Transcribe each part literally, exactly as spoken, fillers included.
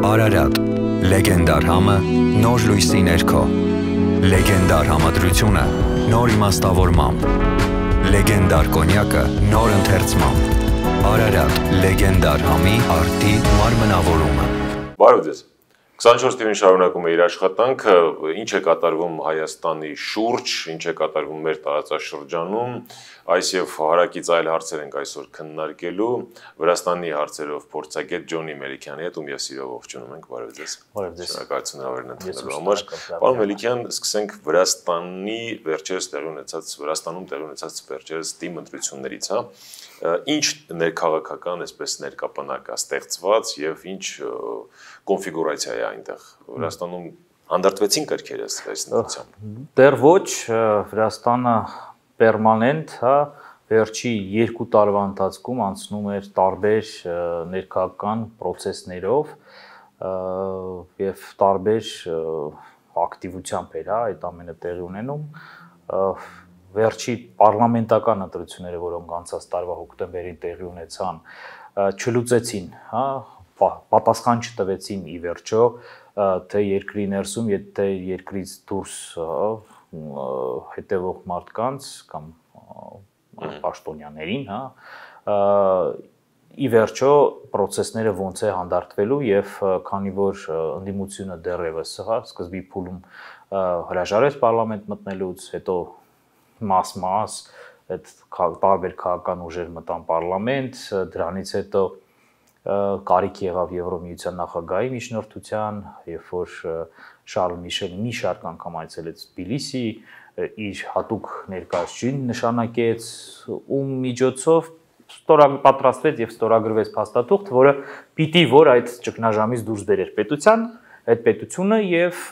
Արարատ, լեգենդար համը, նոր լույսի ներքո, լեգենդար համադրությունը, նոր իմաստավորմամբ, լեգենդար կոնյակը, նոր ընթերցմամբ, Արարատ, լեգենդար համի արդի մարմնավորումը։ Բարև ձեզ։ քսանչորս թիվին շարունակում է իր աշխատանքը, ինչ է կատարվում Հայաստանի շուրջ, ինչ է կատարվում մեր տարածաշրջանում, այս եւ հարակից այլ հարցեր ենք այսօր քննարկելու, Վրաստանի հարցերով փորձագետ Ջոնի Մելիքյանի հետ ում եւ սիրով ողջունում ենք, բարև ձեզ։ Բարև ձեզ։ Շնորհակալություն հավերն ընդունելու համար։ Պարոն Մելիքյան, սկսենք Վրաստանի վերջերս տեղի ունեցած, Վրաստանում տեղի ունեցած վերջերս թիմ ընտրություններից, հա։ Ինչ ներքաղաքական, այսպես ներկապանակ է ստեղծված եւ ինչ կոնֆիգուրացիա է այնտեղ Վրաստանում հանդարտվեցին կրքերը այս նույնությամբ։ Դեռ ոչ, Վրաստանը պերմանենտ, հա, վերջի երկու տարվա ընթացքում անցնում էր տարբեր ներքաղաքական process-ներով եւ տարբեր ակտիվությամբ էր, հա, այդ ամենը տեղի ունենում։ Վերջի պարլամենտական ընտրությունները, որոնք անցած տարվա հոկտեմբերին տեղի ունեցան, չլուծեցին, հա, պատասխան չտվեցին ի վերջո, թե երկրի ներսում, թե երկրից դուրս հետևող մարդկանց կամ պաշտոնյաներին, հա, ի վերջո process-ները ոնց է հանդարտվելու եւ քանի որ ընդդիմությունը դեռևս հա սկզբի փուլում հրաժարեց պարլամենտ մտնելուց, հետո մաս-մաս այդ տարբեր քաղաքական ուժեր մտան պարլամենտ, դրանից հետո կարիք եղավ Եվրոմիության նախագահի միջնորդության, երբ որ Շարլ Միշելը մի շարք անգամ այցելեց Թբիլիսի, իր հատուկ ներկայացուցիչին նշանակեց, ում միջոցով պատրաստվեց եւ ստորագրվեց փաստաթուղթ, որը պիտի որ այդ ճգնաժամից դուրս բերեր պետության, այդ պետությունը եւ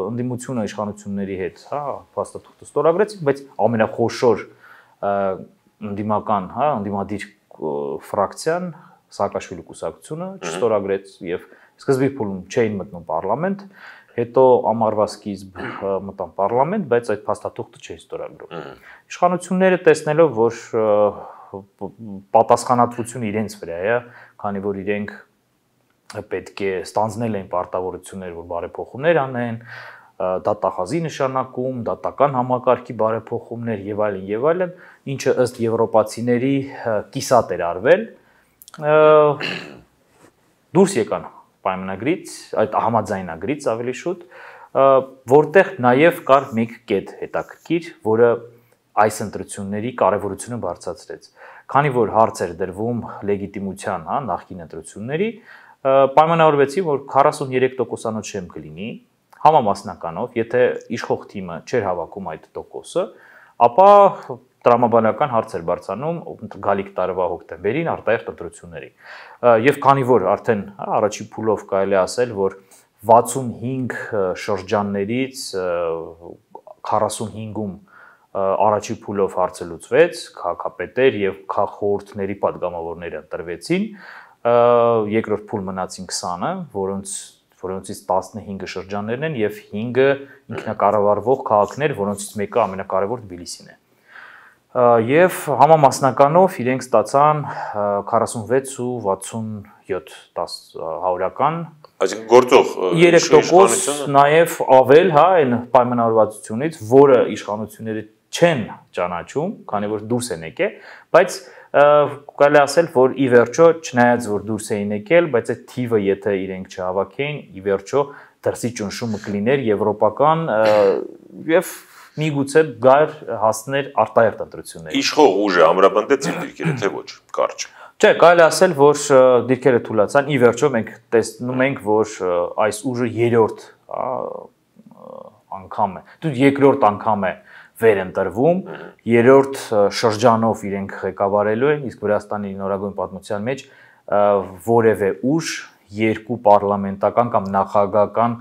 ընդդիմությունը իշխանությունների հետ, հա, փաստաթուղթը ստորագրեցին, բայց ամենախոշոր ընդդիմական, հա, ընդդիմադիր ֆրակցիան Սաակաշվիլի կուսակցությունը չստորագրեց եւ սկզբի փուլում չէին մտնում պարլամենտ, հետո ամառվա սկիզբ մտան պարլամենտ, բայց այդ փաստաթուղթը չէին ստորագրում։ Իշխանությունները տեսնելով, որ պատասխանատվությունը իրենց վրա է, քանի որ իրենք պետք է ստանձնել են պարտավորություններ, որ բարեփոխումներ անեն, դատախազի նշանակում, դատական համակարգի բարեփոխումներ եւ այլն եւ այլն, ինչը ըստ եվրոպացիների կիսատ էր արվել, դուրս եկան պայմանագրից, այդ համաձայնագրից ավելի շուտ, որտեղ նաեւ կար մեկ կետ հետաքրքիր, որը այս ընտրությունների կարևորությունը բարձրացրեց։ Քանի որ հարց էր դրվում լեգիտիմության, հա, նախկին ընտրությունների, պայմանավորվեցին, որ քառասուններեք տոկոսանոց շեմ կլինի, համամասնականով, եթե իշխող թիմը չէր հավաքում այդ տոկոսը, ապա տրամաբանական հարց էր բարձրանում գալիք տարվա հոկտեմբերին արտահերթ ընտրությունների։ Եվ քանի որ արդեն առաջի փուլով կարելի է ասել, որ վաթսունհինգ շրջաններից քառասունհինգում առաջի փուլով հարցը լուծվեց, քաղաքապետեր եւ քաղաքխորհուրդների падգամավորները ընտրվեցին, երկրորդ փուլ մնացին քսանը, որոնց որոնցից տասնհինգը շրջաններն են եւ հինգը ինքնակառավարվող քաղաքներ, որոնցից մեկը ամենակարևոր Թբիլիսին է։ Եվ համամասնականով իրենք ստացան քառասունվեց ու վաթսունյոթ հարյուրական, այսինքն գործող երեք տոկոս նաեւ ավել, հա, այն պայմանավորվածությունից, որը իշխանությունները չեն ճանաչում, քանի որ դուրս են եկել, բայց կարելի ասել, որ ի վերջո, չնայած որ դուրս էին եկել, բայց այդ թիվը եթե իրենք չհավաքեին, ի վերջո դրսի ճնշումը կլիներ եվրոպական եւ միգուցե գար հասներ արտահերթ ընտրությունների։ Իշխող ուժը ամրապնդեց իր դիրքերը, թե ոչ, կարճ։ Չէ, կարելի ասել, որ դիրքերը թուլացան, ի վերջո մենք տեսնում ենք, որ այս ուժը երրորդ անգամ է, դու երկրորդ անգամ է վերընտրվում, երրորդ շրջանով իրենք ղեկավարելու են, իսկ Վրաստանի նորագույն պատմության մեջ որևէ ուժ երկու պարլամենտական կամ նախագահական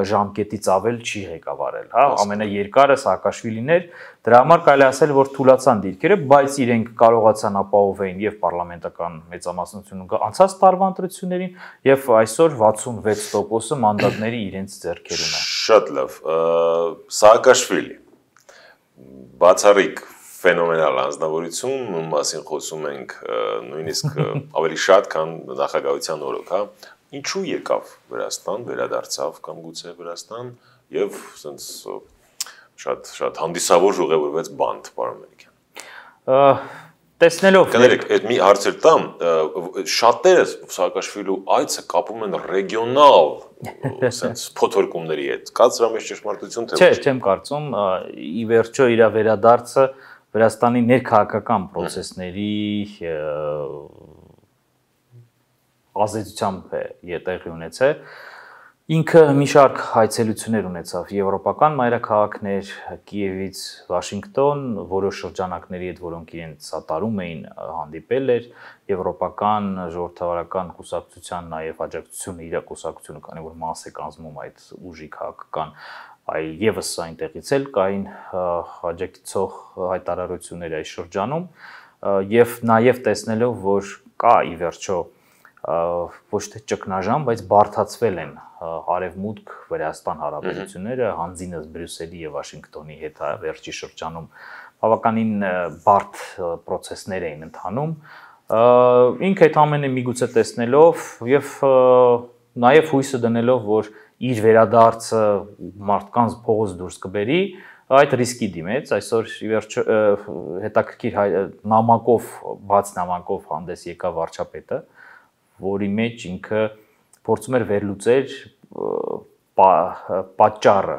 ժամկետից ավել չի ղեկավարել, հա, ամենաերկարը Սաակաշվիլին էր, դրա համար կարելի ասել, որ թուլացան դիրքերը, բայց իրենք կարողացան ապահովել եւ պարլամենտական մեծամասնությունը անցած տարվա ընտրություններին եւ այսօր վաթսունվեց տոկոսը մանդատների իրենց ձեռքերում է։ Շատ լավ, Սաակաշվիլի բացառիկ ֆենոմենալ անձնավորություն, ում մասին խոսում ենք նույնիսկ ավելի շատ, քան նախագահության օրոք, հա, ինչու եկավ Վրաստան, վերադարձավ կամ գուցե Վրաստան եւ ասենց շատ շատ հանդիսավոր ուղևորվեց բանտ, պարոն Մելիքյան։ Տեսնելով Կներեք, այդ մի հարցեր տամ, շատերը Սաակաշվիլու այցը կապում են ռեգիոնալ sense փոթորկումների հետ։ Կա դրա մեջ ճշմարտություն թե ոչ։ Չէ, չեմ կարծում, ի վերջո իր վերադարձը Վրաստանի ներքաղաքական process-ների ազդեցությամբ է տեղի ունեցել։ Ինքը մի շարք հայցելություններ ունեցավ եվրոպական մայրաքաղաքներ, Կիևից Վաշինգտոն, որոշ շրջանակների հետ, որոնք իրենց սատարում էին, հանդիպել էր եվրոպական ժողովրդավարական կուսակցության նաև աջակցությունը իր կուսակցությունը, քանի որ մաս է կազմում այդ ուժի քաղաքական, այլ եւս այնտեղից էլ կային աջակցող հայտարարություններ այս շրջանում եւ նաև տեսնելով, որ կա ի վերջո ոչ թե ճգնաժամ, բայց բարդացվել են Արևմուտք Վրաստան հարաբերությունները հանձինս Բրյուսելի եւ Վաշինգտոնի հետ վերջի շրջանում բավականին բարդ process-ներ էին ընթանում։ Ինքը այդ ամենը միգուցե տեսնելով եւ նաեւ հույսը դնելով, որ իր վերադարձը մարդկանց փողոց դուրս կբերի, այդ ռիսկի դիմեց, այսօր ի վերջո հետաքրքիր նամակով, բաց նամակով հանդես եկավ վարչապետը, որի մեջ ինքը փորձում էր վերլուծել պատճառը,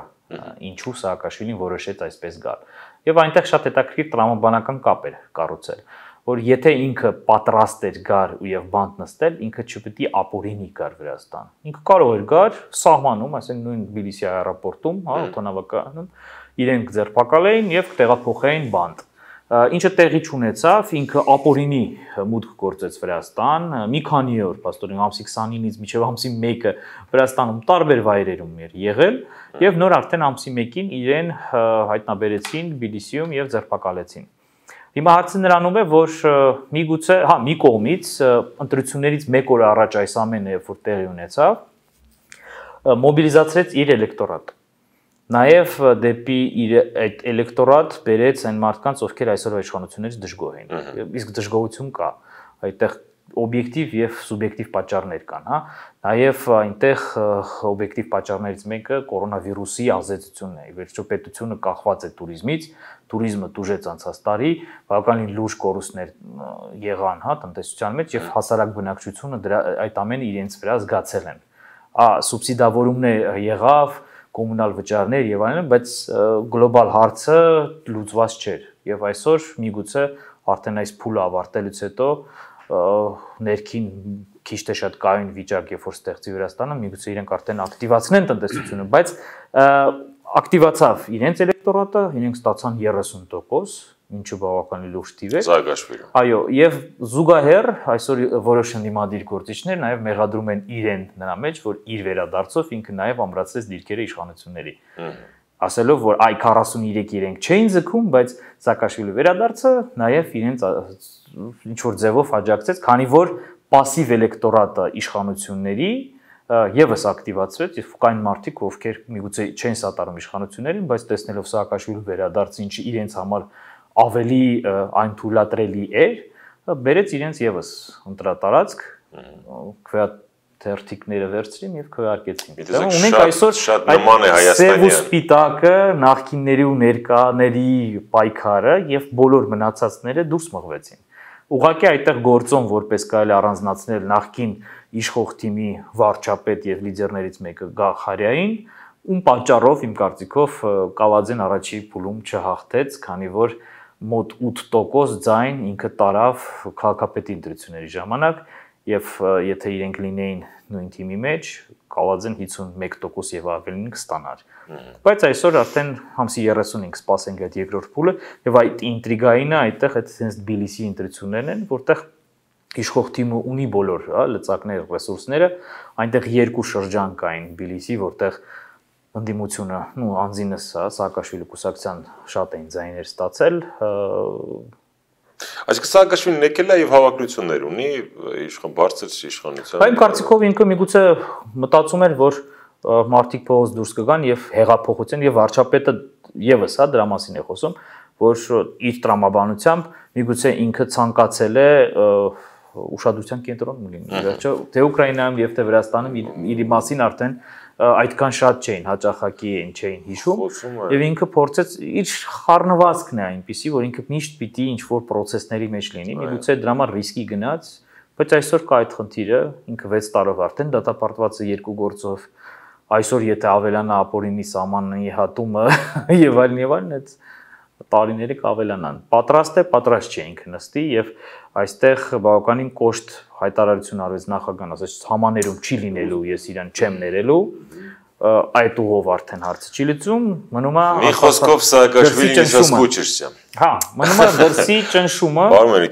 ինչու Սաակաշվիլին որոշեց այսպես գալ։ Եվ այնտեղ շատ հետաքրքիր տրամաբանական կապ էր կառուցել, որ եթե ինքը պատրաստ էր գար եւ բանտ նստել, ինքը չպետք է ապօրինի գար Վրաստան։ Ինքը կարող էր գար սահմանում, ասենք նույն Թբիլիսի аэроպորտում, հա, օդանավականում, իրենք ձերբակալեին եւ տեղափոխեին բանտ։ Ինչը տեղի չունեցավ, ինքը ապօրինի մուտք գործեց Վրաստան, մի քանի օր, փաստորեն ամսի քսանինից մինչև ամսի մեկը Վրաստանում տարբեր վայրերում էր եղել եւ նոր արդեն ամսի մեկին իրեն հայտնաբերեցին Թբիլիսիում եւ ձերբակալեցին։ Հիմա հարցը նրանում է, որ միգուցե, հա, մի կողմից ընտրություններից մեկ օր առաջ այս ամենը երբ որ տեղի ունեցավ, մոբիլիզացրեց իր էլեկտորատը։ Նաև դեպի իր այդ էլեկտորատ բերեց այն մարդկանց, ովքեր այսօրվա իշխանություններից դժգոհ են։ Իսկ դժգոհություն կա, այդտեղ օբյեկտիվ եւ սուբյեկտիվ պատճառներ կան, հա։ Նաև այնտեղ օբյեկտիվ պատճառներից մեկը կորոնավիրուսի ազդեցությունն է։ Ի վերջո պետությունը կախված է туриզմից, туриզմը տուժեց անցած տարի, բավականին լուրջ կորուստներ եղան, հա, տնտեսության մեջ եւ հասարակ բնակչությունը դրա այդ ամենը իրենց վրա զգացել են։ Ա սուբսիդավորումներ եղավ, կոմունալ վճարներ եւ այլն, բայց գլոբալ հարցը լուծված չէր եւ այսօր միգուցե արդեն այս փուլը ավարտելուց հետո ներքին քիչ թե շատ կայուն վիճակ երբ որ ստեղծի Վրաստանը, միգուցե իրենք արդեն ակտիվացնեն տնտեսությունը, բայց ակտիվացավ իրենց էլեկտորատը, իրենք ստացան երեսուն տոկոս, ինչը բավականին լուրջ թիվ է։ Սաակաշվիլը։ Այո, եւ զուգահեռ այսօր որոշ ընդդիմադիր գործիչներ նաեւ մեղադրում են իրեն նրա մեջ, որ իր վերադարձով ինքը նաեւ ամրացրեց դիրքերը իշխանությունների։ Ասելով, որ այ քառասուններեք իրենք չէին ձգում, բայց Սաակաշվիլի վերադարձը նաեւ իրենց ինչ որ ձևով աջակցեց, քանի որ пассив էլեկտորատը իշխանությունների եւս ակտիվացվեց, եւ կային մարդիկ, ովքեր միգուցե չեն սատարում իշխանություններին, բայց տեսնելով Սաակաշվիլի վերադարձը, ինչը իրենց համար ավելի այն թույլատրելի էր, բերեց իրենց եւս ընտրատարածք, քվեաթերթիկները վերցրին եւ քվեարկեցին։ Ունենք այսօր այդ սև ու սպիտակը նախկինների ու ներկաների պայքարը եւ բոլոր մնացածները դուրս մղվեցին։ Ուղղակի այդտեղ գործոն որպես կարելի առանձնացնել նախկին իշխող թիմի վարչապետ եւ լիդերներից մեկը Գախարյային, ում պատճառով իմ կարծիքով Կալաձեն առաջի փուլում չհաղթեց, քանի որ մոտ ութ տոկոս ձայն ինքը տարավ քաղաքապետի ընտրությունների ժամանակ եւ եթե իրենք լինեին նույն թիմի մեջ, Կալաձեն հիսունմեկ տոկոս եւ ավելին կստանար։ Բայց այսօր արդեն ամսի երեսունինը սպասենք այդ երկրորդ փուլը եւ այդ ինտրիգայինը այդտեղ այդ sense Թբիլիսի ընտրություններն են, որտեղ իշխող թիմը ունի բոլոր, հա, լծակներ, ռեսուրսները, այնտեղ երկու շրջան կային Թբիլիսի, որտեղ ընդդիմությունը, նու անձինս, հա, Սաակաշվիլի կուսակցության շատ էին ձայներ ստացել։ Այսինքն Սաակաշվիլին եկել է եւ հավակնություններ ունի իշխան բարձր իշխանության։ Այն կարծիքով ինքը միգուցե մտածում էր, որ մարդիկ փողոց դուրս կգան եւ հեղափոխության եւ վարչապետը եւս, հա, դրա մասին է խոսում, որ իր տրամաբանությամբ միգուցե ինքը ցանկացել է ուշադրության կենտրոնում լինի։ Վերջո թե Ուկրաինայում եւ թե Վրաստանում իր մասին արդեն այդքան շատ չէին, հաճախակի են չէին հիշում եւ ինքը փորձեց իր խառնվածքն է այնպեսի, որ ինքը միշտ պիտի ինչ-որ process-ների մեջ լինի, միգուցե դրա համար ռիսկի գնաց, բայց այսօր կա այդ խնդիրը, ինքը վեց տարով արդեն դատապարտված է երկու գործով, այսօր եթե ավելանա ապօրինի սահմանի հատումը եւ այլն եւ այլն, այդ տարիները կավելանան։ Պատրաստ է, պատրաստ չէ ինքը նստի եւ այստեղ բավականին կոշտ հայտարարություն արվեց նախագահան, ասաց համաներում չի լինելու, ես իրան չեմ ներելու, այդ ուղով արդեն հարցը չի լուծում, մնում է մի խոսքով Սաակաշվիլին իսկուչերսյա։ Հա, մնում է դրսի ճնշումը,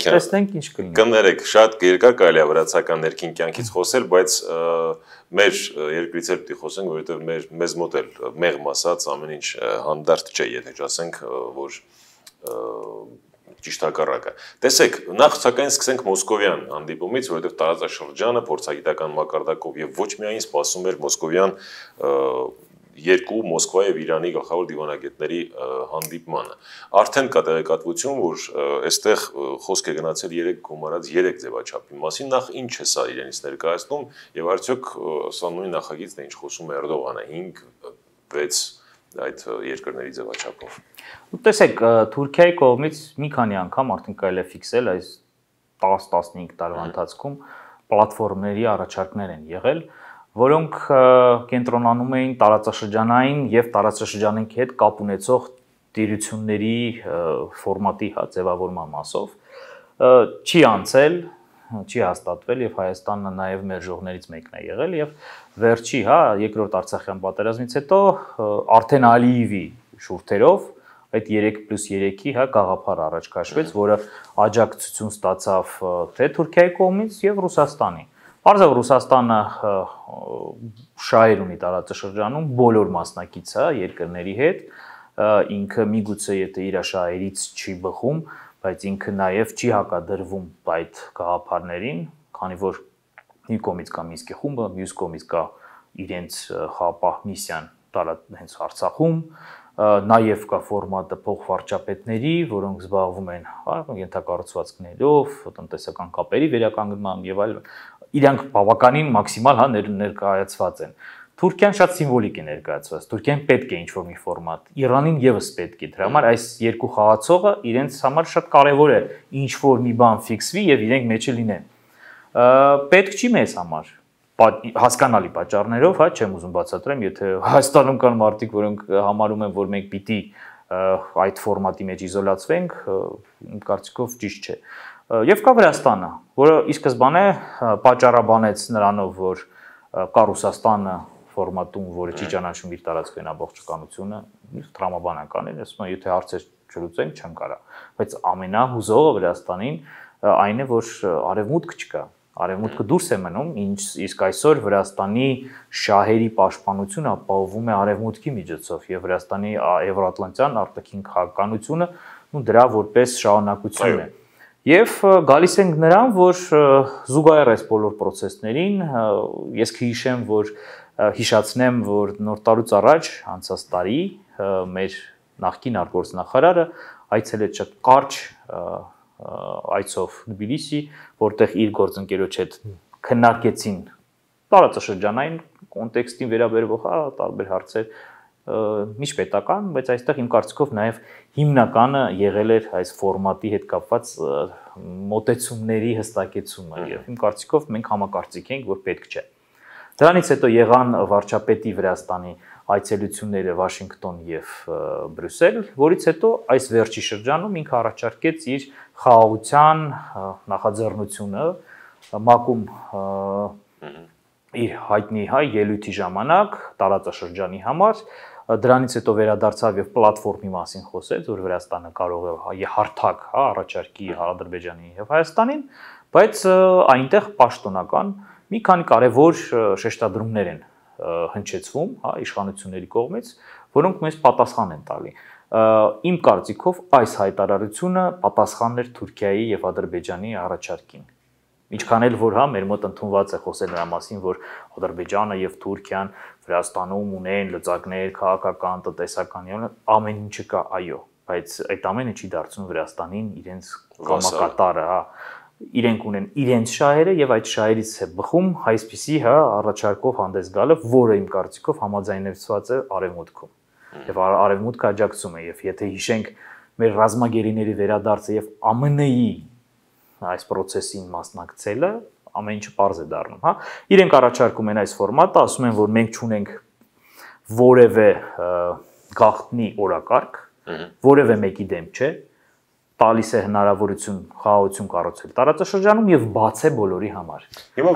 տեսնենք ինչ կլինի։ Կներեք, շատ երկար կարելի է վրացական ներքին կյանքից խոսել, բայց մեր երկրից էլ պիտի խոսենք, որովհետև մեր մեզ մոտ էլ մեղմ ասած ամեն ինչ հանդարտ չէ, եթե ասենք, որ ճիշտ հակառակը։ Տեսեք, նախ սակայն սկսենք Մոսկովյան հանդիպումից, որովհետև տարածաշրջանը փորձագիտական մակարդակով եւ ոչ միայն սպասում էր Մոսկովյան երկու Մոսկվայի եւ Իրանի գլխավոր դիվանագետների հանդիպմանը։ Արդեն կա տեղեկատվություն, որ այստեղ խոսք է գնացել երեք գումարած երեք ձևաչափի մասին, նախ ինչ է սա իրենից ներկայացնում եւ արդյոք սա նույն նախագիծն է, ինչ խոսում է Էրդողանը հինգ վեց այդ երկրների ձևաչափով։ Տեսեք, Թուրքիայի կողմից մի քանի անգամ արդեն կարելի է ֆիքսել այս տասը տասնհինգ տարվա ընթացքում պլատֆորմների առաջարկներ են եղել, որոնք կենտրոնանում էին տարածաշրջանային եւ տարածաշրջանային հետ կապ ունեցող տիրությունների ֆորմատի հա ձևավորման մասով չի անցել, չի հաստատվել եւ Հայաստանը նաեւ մերժողներից մեկն է եղել եւ վերջի հա երկրորդ Արցախյան պատերազմից հետո արդեն Ալիևի շուրթերով այդ երեք պլյուս երեքի հա գաղափար առաջ քաշվեց, որը աջակցություն ստացավ թե Թուրքիայի կողմից եւ Ռուսաստանի։ Պարզավ Ռուսաստանը շահեր ունի տարածաշրջանում բոլոր մասնակից հա երկրների հետ, ինքը միգուցե եթե իր շահերից չի բխում, բայց ինքը նաեւ չի հակադրվում այդ գաղափարներին, քանի որ մի կողմից կա Մինսկի խումբը, մյուս կողմից կա իրենց խաղապահ միսիան հենց Արցախում, նաև կա ֆորմատը փոխվարչապետների, որոնք զբաղվում են ենթակառուցվածքներով, տնտեսական կապերի վերականգնման եւ այլն, իրանք բավականին մաքսիմալ հա ներկայացված են։ Թուրքիան շատ սիմվոլիկ է ներկայացված, Թուրքիան պետք է ինչ-որ մի ֆորմատ, Իրանին եւս պետք է, դրա համար այս երկու խաղացողը իրենց համար շատ կարեւոր է ինչ-որ մի բան ֆիքսվի եւ իրենք մեջը լինեն։ Պետք չի մեզ համար հասկանալի պատճառներով, հա, չեմ ուզում բացատրեմ, եթե Հայաստանում կան մարդիկ, որոնք համարում են, որ մենք պիտի այդ ֆորմատի մեջ իզոլացվենք, իմ կարծիքով ճիշտ չէ։ Եվ կա Վրաստանը, որը ի սկզբանե պատճառաբանեց նրանով, որ կա Ռուսաստանը ֆորմատում, որը չի ճանաչում իր տարածքային ամբողջականությունը, տրամաբանական է, ասում են, եթե հարցեր չլուծենք, չեմ կարա։ Բայց ամենահուզողը Վրաստանին այն է, որ արևմուտք չկա։ Արևմուտքը դուրս է մնում, իսկ այսօր Վրաստանի շահերի պաշտպանությունը ապահովում է արևմուտքի միջոցով եւ Վրաստանի եվրոատլանտյան արտաքին քաղաքականությունը ու դրա որպես շահանակություն է։ Եվ գալիս ենք նրան, որ զուգահեռ այս բոլոր process-ներին ես կհիշեմ, որ հիշացնեմ, որ նոր տարուց առաջ անցած տարի մեր նախկին արտգործնախարարը այցելեց շատ կարճ այցով Թբիլիսի, որտեղ իր գործընկերոջ հետ քննարկեցին տարածաշրջանային կոնտեքստին վերաբերող տարբեր հարցեր, միջպետական, բայց այստեղ իմ կարծիքով նաև հիմնականը եղել էր այս ֆորմատի հետ կապված մոտեցումների հստակեցումը եւ իմ կարծիքով մենք համակարծիք ենք, որ պետք չէ։ Դրանից հետո եղան վարչապետի Վրաստանի այցելությունները Վաշինգտոն եւ Բրյուսել, որից հետո այս վերջի շրջանում ինքը առաջարկեց իր խաղաղության նախաձեռնությունը ՄԱԿ-ում իր հայտնի հայ ելույթի ժամանակ տարածաշրջանի համար, դրանից հետո վերադարձավ եւ պլատֆորմի մասին խոսեց, որ Վրաստանը կարող է հարթակ, հա, առաջարկի Ադրբեջանին եւ Հայաստանին, բայց այնտեղ պաշտոնական մի քանի կարևոր շեշտադրումներ են հնչեցվում, հա, իշխանությունների կողմից, որոնք մեզ պատասխան են տալի։ Իմ կարծիքով այս հայտարարությունը պատասխանն էր Թուրքիայի եւ Ադրբեջանի առաջարկին։ Ինչքան էլ որ հա մեր մոտ ընդունված է խոսել նրա մասին, որ Ադրբեջանը եւ Թուրքիան Վրաստանում ունեն լծակներ, քաղաքական, տնտեսական, ամեն ինչը կա, այո, բայց այդ ամենը չի դարձնում Վրաստանին իրենց կամակատարը, հա։ իրենք ունեն իրենց շահերը եւ այդ շահերից է բխում այսպիսի հա առաջարկով հանդես գալը, որը իմ կարծիքով համաձայնեցված է արևմուտքում։ Եվ արևմուտքը աջակցում է եւ եթե հիշենք մեր ռազմագերիների վերադարձը եւ ԱՄՆ-ի այս process-ին մասնակցելը, ամեն ինչը պարզ է դառնում, հա։ Իրենք առաջարկում են այս ֆորմատը, ասում են, որ մենք չունենք որևէ գաղտնի օրակարգ, որևէ մեկի դեմ չէ, տալիս է հնարավորություն խաղաղություն կառուցել տարածաշրջանում եւ բաց է բոլորի համար։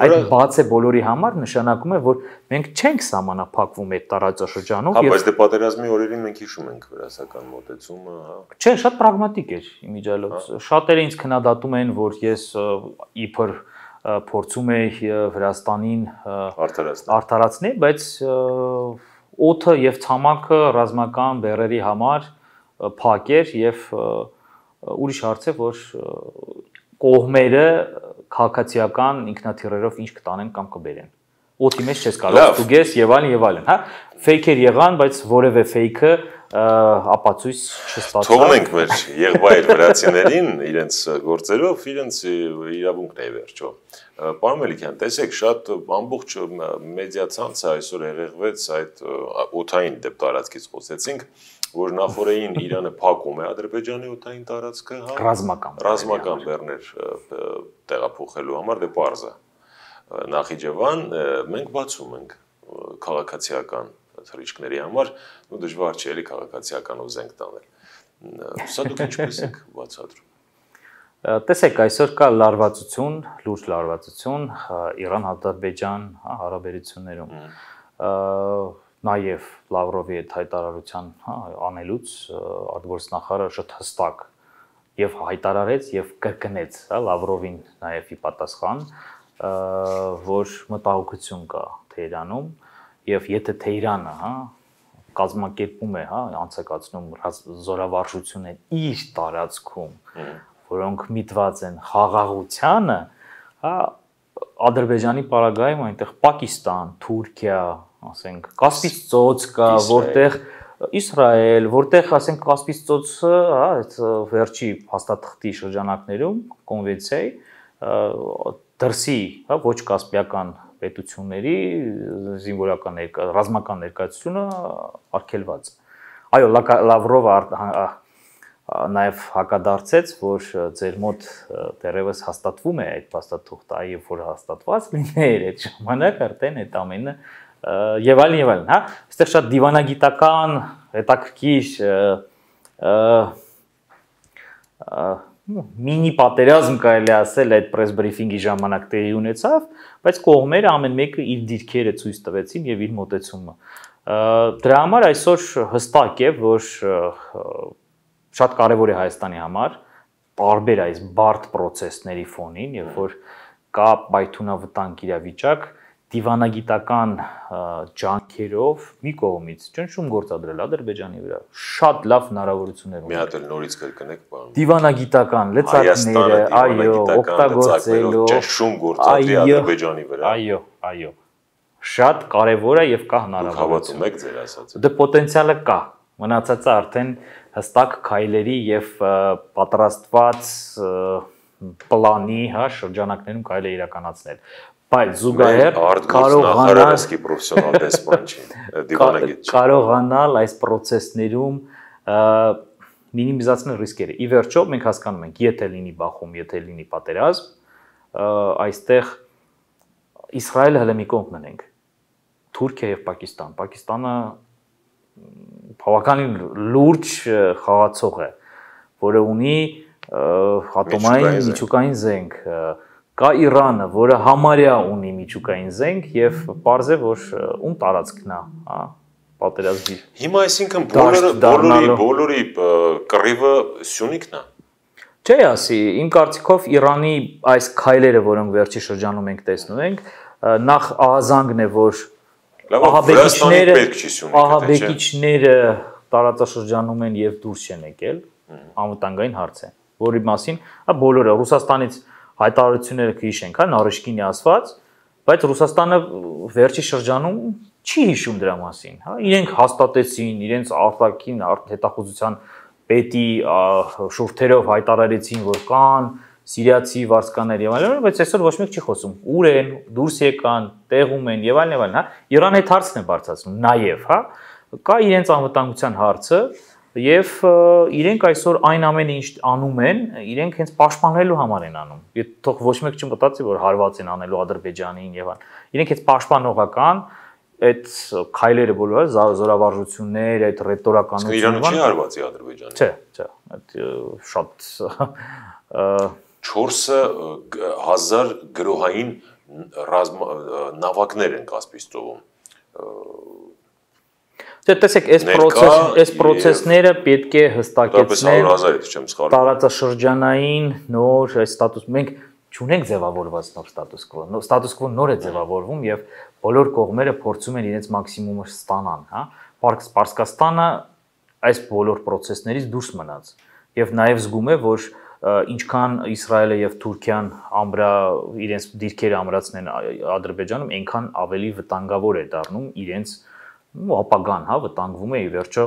Այդ բաց է բոլորի համար նշանակում է, որ մենք չենք սահմանափակվում այդ տարածաշրջանով եւ հա, բայց դե պատերազմի օրերին մենք հիշում ենք վրացական մոտեցումը, հա։ Չէ, շատ պրագմատիկ էր իմիջիալոց։ Շատերը ինձ քննադատում են, որ ես իբր փորձում էի Վրաստանին արդարացնել, բայց օդը եւ ցամաքը ռազմական բեռերի համար փակ էր եւ ուրիշ հարց է, որ կողմերը քաղաքացիական ինքնաթիռերով ինչ կտանեն կամ կբերեն։ Օդի մեջ չես կարող ստուգես եւ այլն եւ այլն, հա։ Ֆեյքեր եղան, բայց որևէ ֆեյքը ապացույց չստացավ։ Թողնենք մեր եղբայր վրացիներին իրենց գործերով, իրենց իրավունքն է վերջո։ Պարոն Մելիքյան, տեսեք, շատ ամբողջ մեդիա ցանցը այսօր եղեղվեց այդ օդային դեպ տարածքից խոսեցինք, որ նախորդին Իրանը փակում է Ադրբեջանի օդային տարածքը, հա, ռազմական ռազմական բեռներ տեղափոխելու համար, դե պարզ է։ Նախիջևան մենք բացում ենք քաղաքացիական թռիչքների համար, ու դժվար չէ էլի քաղաքացիականով զենք տանել։ Սա դուք ինչպես եք բացատրում։ Տեսեք, այսօր կա լարվածություն, լուրջ լարվածություն Իրան-Ադրբեջան հարաբերություններում։ Նաև Լավրովի այդ հայտարարության անելուց արտգործնախարարը շատ հստակ եւ հայտարարեց եւ կրկնեց, հա, Լավրովին նաև ի պատասխան, որ մտահոգություն կա Թեհրանում եւ եթե Թեհրանը, հա, կազմակերպում է, հա, անցկացնում զորավարժություններ իր տարածքում, որոնք միտված են խաղաղությանը, հա, Ադրբեջանի պարագայում այնտեղ Պակիստան, Թուրքիա, ասենք Կասպից ծոց կա, որտեղ Իսրայել, որտեղ ասենք Կասպից ծոցը, հա, այդ վերջի փաստաթղթի շրջանակներում կոնվենցիայի դրսի, հա, ոչ կասպիական պետությունների զինվորական ներկա, ռազմական ներկայացությունը արգելված։ Այո, Լավրովը նաև հակադարձեց, որ ձեր մոտ դեռևս հաստատվում է այդ փաստաթուղթը, այո, որ հաստատված լիներ այդ ժամանակ արդեն այդ ամենը եւ այլն եւ այլն, հա, այստեղ շատ դիվանագիտական, հետաքրքիր մինի պատերազմ կարելի ասել այդ պրես բրիֆինգի ժամանակ տեղի ունեցավ, բայց կողմերը ամեն մեկը իր դիրքերը ցույց տվեցին եւ իր մոտեցումը։ Դրա համար այսօր հստակ է, որ շատ կարևոր է Հայաստանի համար տարբեր այս բարդ process-ների ֆոնին, երբ որ կա պայթունավտանգ իրավիճակ, դիվանագիտական ջանքերով մի կողմից ճնշում գործադրել Ադրբեջանի վրա, շատ լավ հնարավորություններ ունեն։ Մի հատ էլ նորից կրկնեք, պարոն։ Դիվանագիտական լծակները, այո, օգտագործելու ճնշում գործադրի Ադրբեջանի վրա։ Այո, այո։ Շատ կարևոր է եւ կա հնարավորություն։ Հավատում եք ձեր ասածը։ Դե պոտենցիալը կա։ Մնացածը արդեն հստակ քայլերի եւ պատրաստված պլանի, հա, շրջանակներում կարելի է իրականացնել։ Բայց զուգահեռ կարողանալ պրոֆեսիոնալ դեսպան չի, դիվանագիտ չի։ Կարողանալ այս process-ներում մինիմիզացնել ռիսկերը։ Ի վերջո մենք հասկանում ենք, եթե լինի բախում, եթե լինի պատերազմ, այստեղ Իսրայելը հələ մի կողմ մնենք։ Թուրքիա եւ Պակիստան։ Պակիստանը բավականին լուրջ խաղացող է, որը ունի ատոմային միջուկային զենք, կա Իրանը, որը համարյա ունի միջուկային զենք եւ պարզ է, որ ում տարածքն է, հա, պատերազմի։ Հիմա այսինքն բոլորը բոլորի բոլորի կռիվը Սյունիքն է։ Չէ, ասի, իմ կարծիքով Իրանի այս քայլերը, որոնք վերջի շրջանում ենք տեսնում ենք, նախ ահազանգն է, որ ահաբեկիչները ահաբեկիչները տարածաշրջանում են եւ դուրս չեն եկել, անվտանգային հարց է, որի մասին, հա, բոլորը Ռուսաստանից հայտարարությունները կհիշենք, հա, Նարիշկինի ասված, բայց Ռուսաստանը վերջի շրջանում չի հիշում դրա մասին, հա, իրենք հաստատեցին, իրենց արտաքին հետախուզության պետի շուրթերով հայտարարեցին, որ կան սիրիացի վարձկաներ եւ այլն, բայց այսօր ոչ մեկ չի խոսում։ Ուր են, դուրս եկան, տեղում են եւ այլն եւ այլն, հա։ Իրան այդ հարցն է բարձրացնում, նաեւ, հա։ Կա իրենց անվտանգության հարցը եւ իրենք այսօր այն ամենը ինչ անում են, իրենք հենց պաշտպանելու համար են անում։ Եթե թող ոչ մեկ չմտածի, որ հարված են անելու Ադրբեջանին եւ այլն։ Իրենք հենց պաշտպանողական այդ քայլերը բոլորը զորավարժություններ, այդ ռետորականությունը Իրանը չի հարվածի Ադրբեջանին։ Չէ, չէ, այդ շատ չորս հազար գրոհային նավակներ են Կասպից ծովում։ Դե տեսեք, այս process, այս process-ները պետք է հստակեցնեն տարածաշրջանային նոր այս ստատուս։ Մենք չունենք ձևավորված նոր ստատուս quo։ Նոր ստատուս quo նոր է ձևավորվում եւ բոլոր կողմերը փորձում են իրենց մաքսիմումը ստանան, հա։ Պարսկաստանը այս բոլոր process-ներից դուրս մնաց եւ նաեւ զգում է, որ ինչքան Իսրայելը եւ Թուրքիան ամբրա իրենց դիրքերը ամրացնեն Ադրբեջանում, այնքան ավելի վտանգավոր է դառնում իրենց ապագան, հա, վտանգվում է ի վերջո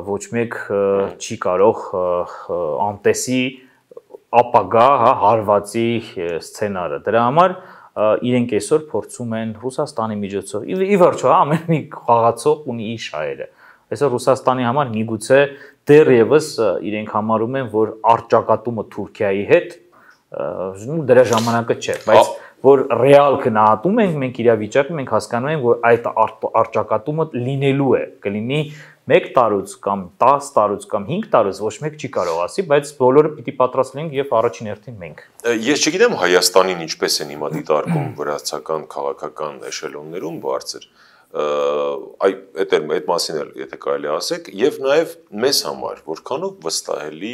ոչ մեկ չի կարող անտեսի ապագա, հա, հարվածի սցենարը։ Դրա համար իրենք այսօր փորձում են Ռուսաստանի միջոցով ի վերջո, հա, ամեն մի խաղացող ունի իր շահերը։ Այսօր Ռուսաստանի համար միգուցե դեռևս իրենք համարում են, որ առճակատումը Թուրքիայի հետ դրա ժամանակը չէ, բայց որ ռեալ գնահատում ենք մենք իրավիճակը, մենք հասկանում ենք, որ այդ առճակատումը լինելու է, կլինի մեկ տարուց կամ տասը տարուց կամ հինգ տարուց ոչ մեկ չի կարող ասի, բայց բոլորը պիտի պատրաստ լինենք եւ առաջին հերթին մենք։ Ես չգիտեմ Հայաստանին ինչպես են հիմա դիտարկում վրացական քաղաքական էշելոններում բարձր, այ այդ այդ մասին էլ եթե կարելի ասեք, եւ նաեւ մեզ համար որքանով վստահելի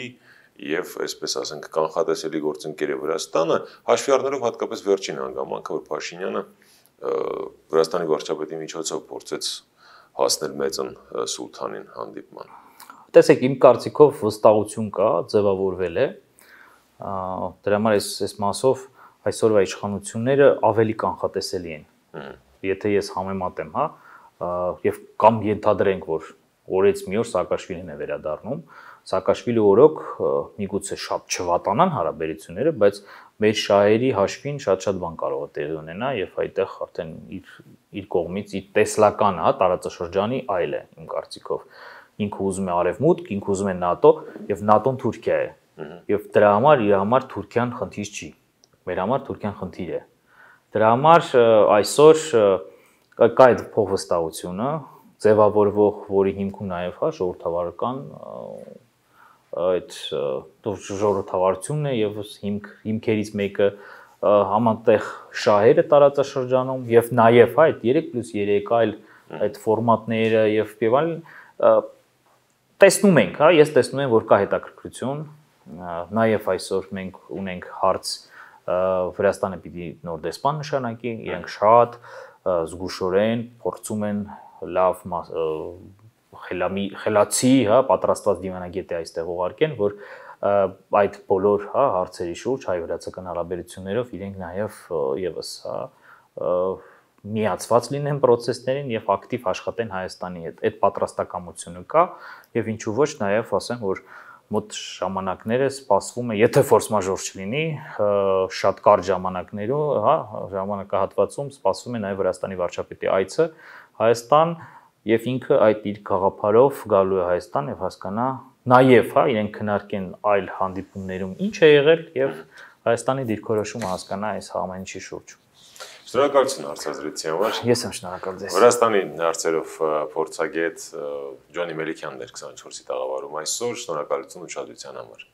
եւ այսպես ասենք կանխատեսելի գործընկեր է Վրաստանը, հաշվի առնելով հատկապես վերջին հանգամանքը, որ Փաշինյանը Վրաստանի վարչապետի միջոցով փորձեց հասնել մեծն սուլթանին հանդիպման։ Տեսեք, իմ կարծիքով վստահություն կա, ձևավորվել է։ Դրա համար այս այս մասով այսօրվա իշխանությունները ավելի կանխատեսելի են։ Եթե ես համեմատեմ, հա, եւ կամ ենթադրենք, որ օրից մի օր Սաակաշվիլին է վերադառնում, Սաակաշվիլի օրոք միգուցե շատ չվատանան հարաբերությունները, բայց մեր շահերի հաշվին շատ-շատ բան կարող է տեղի ունենա եւ այդտեղ արդեն իր իր կողմից իր տեսլական, հա, տարածաշրջանի այլ է իմ կարծիքով։ Ինքը ուզում է արևմուտք, ինքը ուզում է ՆԱՏՕ եւ ՆԱՏՕ-ն Թուրքիա է։ Եվ դրա համար իր համար Թուրքիան խնդիր չի։ Մեր համար Թուրքիան խնդիր է։ Դրա համար այսօր կա այդ փոխվստահությունը, ձևավորվող, որի հիմքում նաեւ հա ժողովրդավարական այդ ժողովրդավարությունն է եւ հիմք հիմքերից մեկը համատեղ շահերը տարածաշրջանում եւ նաեւ հա այդ երեք պլյուս երեք այլ այդ ֆորմատները եւ եւ այլն տեսնում ենք, հա, ես տեսնում եմ, որ կա հետաքրքրություն, նաեւ այսօր մենք ունենք հարց Վրաստանը պիտի նոր դեսպան նշանակի, իրենք շատ զգուշորեն փորձում են լավ խելամի խելացի, հա, պատրաստված դիվանագետ է այստեղ ուղարկեն, որ այդ բոլոր, հա, հարցերի շուրջ հայ-վրացական հարաբերություններով իրենք նաև եւս, հա, միացված լինեն process-ներին եւ ակտիվ աշխատեն Հայաստանի հետ։ Այդ պատրաստակամությունը կա եւ ինչու ոչ նաեւ ասեմ, որ մոտ ժամանակները սպասվում է, եթե ֆորս մաժոր չլինի, շատ կարճ ժամանակներում, հա, ժամանակահատվածում սպասվում է նաեւ Վրաստանի վարչապետի այցը Հայաստան եւ ինքը այդ իր գաղափարով գալու է Հայաստան եւ հասկանա նաեւ, հա, իրենք քննարկեն այլ հանդիպումներում ինչ է եղել եւ Հայաստանի դիրքորոշումը հասկանա այս ամենի շուրջ։ Շնորհակալություն հարցազրույցի համար։ Ես եմ շնորհակալ ձեզ։ Վրաստանի հարցերով փորձագետ Ջոնի Մելիքյանն էր քսանչորսի տաղավարում այսօր, շնորհակալություն ուշադրության համար։